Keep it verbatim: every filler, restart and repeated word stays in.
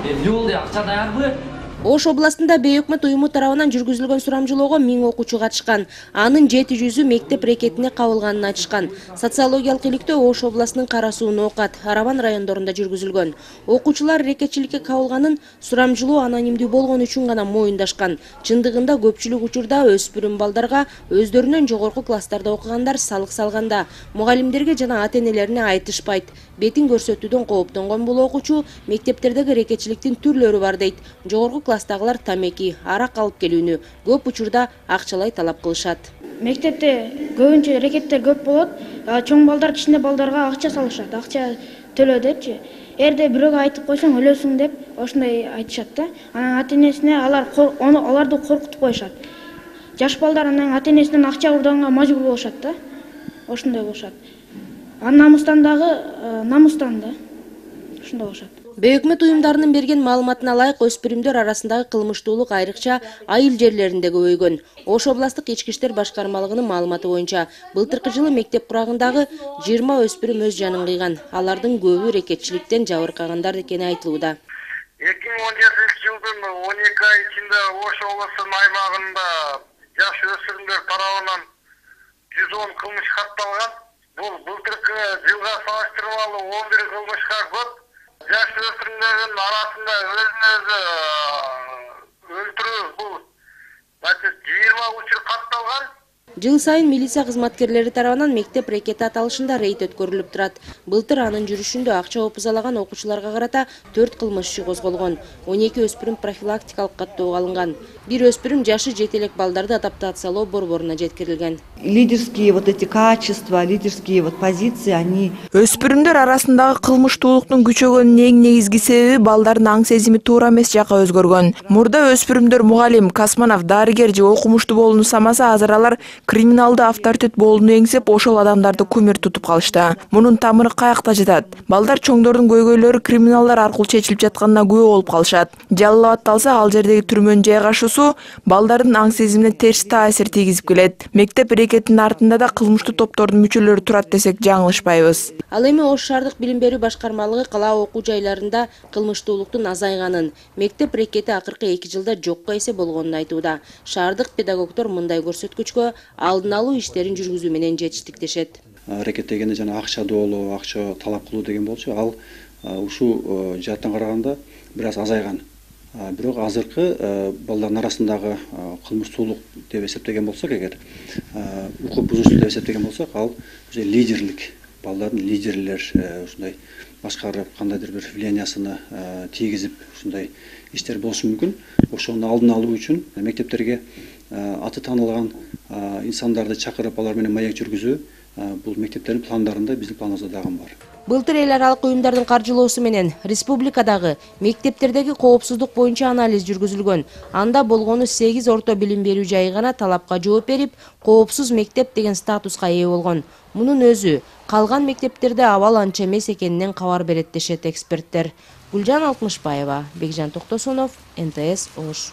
эмне болду, акча даярбы? Ош областында бейөкмөт уюму тарабынан жүргүзүлгөн сурамжылоого миң окуучу катышкан. Анын жети жүзү мектеп рекетине кабылганын айтышкан. Социологиялык иликтөө Ош областынын Кара Суу, Ноокат, Арабан райондорунда жүргүзүлгөн. Окуучулар рекетчиликке кабылганын сурамжылоо анонимдүү болгон үчүн гана моюндашкан. Чындыгында көпчүлүк учурда өспүрүм балдарга өздөрүнөн жогорку класстарда окугандар салык салганда, мугалимдерге жана ата-энелерине айтышпайт. Бетин көрсөтүүдөн кооптонгон бул окуучу мектептердеги рекетчиликтин түрлөрү бар дейт. Жогорку класстагылар тамеки, арак алып келүүнү көп учурда акчалай талап кылышат. Мектепте көбүнчө рекеттер көп болот. Чоң балдар кичине балдарга акча салышат, акча төлө депчи. Эрде бирөөгө айтып койсоң өлөсүң деп ошондой айтышат да. Анан ата-энесине алар аларды коркутуп коюшат. Жаш балдар анан ата-энесинен акча урдаганга мажбур болушат да. Ошондой болушат. Анын намустан дагы намустан да. Ошондой болушат. Бейөкмөт уюмдарынын берген маалыматына ылайык, өспүрүмдөр арасындагы кылмыштуулук айрыкча айыл жерлеринде көбөйгөн. Ош областык ички иштер башкармалыгынын маалыматы боюнча, былтыркы жылы мектеп курагындагы жыйырма өспүрүм өз жанын кыйган. Алардын көбү рекетчиликтен жабыркагандар экени айтылууда. эки миң он жетинчи жылдын он эки ай ичинде Ош облусунун аймагында жаш өспүрүмдөр тарабынан жүз он кылмыш катталган. Бул былтыркы жылга салыштырмалуу он бир кылмышка көп. Жаш өспүрүмдөрдүн арасында өзүн өзү өлтүрүү бул жыйырма учур катталган. Жыл сайын милиция кызматкерлери тарабынан мектеп рекети аталышында рейд өткөрүлүп турат. Былтыр анын жүрүшүндө акча опузалаган окуучуларга карата төрт кылмыш иши козголгон. он эки өспүрүм профилактикалык каттоого алынган. Бир өспүрүм жашы жете элек балдарды адаптациялоо борборуна жеткирилген. Лидерские вот эти качества, лидерские вот позиции, они... Өспүрүмдөр арасындагы кылмыштуулуктун күчөгөнүнүн эң негизги себеби балдардын аң сезими туура эмес жакка өзгөргөн. Мурда өспүрүмдөр мугалим, космонавт, дарыгер же окумуштуу болууну самаса, азыр алар криминалдуу авторитет болууну эңсеп ошол адамдарды кумир тутуп калышты. Мунун тамыры каякта жатат? Балдар чоңдордун көйгөйлөрү криминалдар аркылуу чечилип жатканына күбө болуп калышат. Жалал абадталса, ал жердеги түрмөнүн жайгашуусу балдардын аң сезимине терс таасир тийгизип келет. Мектеп рекетинин артында да кылмыштуу топтордун мүчөлөрү турат десек жаңылышпайбыз. Ал эми Ош шаардык билим берүү башкармалыгы кала окуу жайларында кылмыштуулуктун азайганын, мектеп рекети акыркы эки жылда жокко эсе болгонун айтууда. Шаардык педагогдор мындай көрсөткүчкө алдын алуу иштерин жүргүзүү менен жетиштиктешет. Рекет дегенде жана акча доолоо, акча талап кылуу деген болчу, ал ушул жааттан караганда бир аз азайган. Бирок азыркы балдардын арасындагы кылмыштуулук деп эсептеген болсок, эгер укук бузуучулук деп эсептеген болсок, ал лидерлик, балдардын лидерлер ушундай башкарып, кандайдыр бир влияниясына тийгизип ушундай иштер болушу мүмкүн. Ошону алдын алуу үчүн мектептерге аты таанылган инсандарды чакырып, алар менен маек жүргүзүү бул мектептердин пландарында, биздин планыбызда дагы бар. Былтыр эл аралык уюмдардын каржылоосу менен республикадагы мектептердеги коопсуздук боюнча анализ жүргүзүлгөн. Анда болгону сегиз орто билим берүү жайы гана талапка жооп берип, коопсуз мектеп деген статуска ээ болгон. Мунун өзү калган мектептерде абал анча эмес экенинен кабар берет дешет эксперттер. Гүлжан Алтмышбаева, Бекжан Токтосунов, эн тэ эс Ош.